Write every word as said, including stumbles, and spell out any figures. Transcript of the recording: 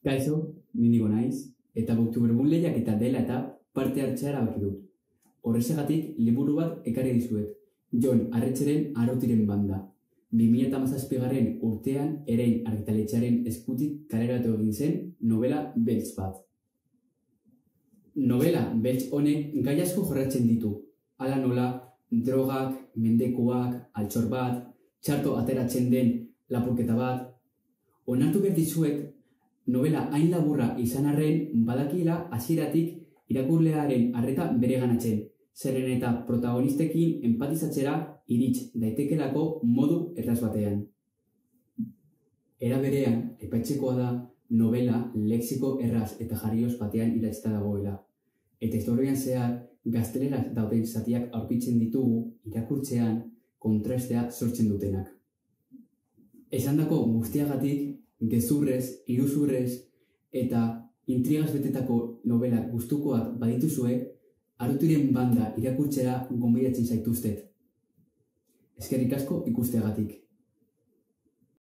Kaixo, ninigo naiz, eta Boktuberbun lehiak eta dela eta parte hartzea erabaki dut. Horrexegatik liburu bat ekarri dizuet, Jon Arretxeren Arotiren banda. bi mila hamazazpigarren urtean Erein argitaletxearen eskutik kaleratu egin zen novela beltz bat. Novela beltz honek gai asko jorratzen ditu, hala nola drogak, mendekuak, altxor bat, txarto ateratzen den lapurketa bat. Onartu behar dizuet, novela hain laburra izan arren badakila hasieratik irakurlearen arreta bereganatzen, zeren eta protagonistekin empatizatzera irits daitekelako modu erraz batean. Era berean, aipatzekoa da novela lexiko erraz eta jarrioz batean idatzita dagoela, eta historian zehar gazteleraz dauden zatiak aurkitzen ditugu irakurtzean kontrastea sortzen dutenak. Esandako guztiagatik, gezurrez, iruzurrez eta intrigaz betetako novela gustukoak badituzue, Arotiren banda irakurtzera gonbidatzen zaituztet. Eskerrik asko ikusteagatik.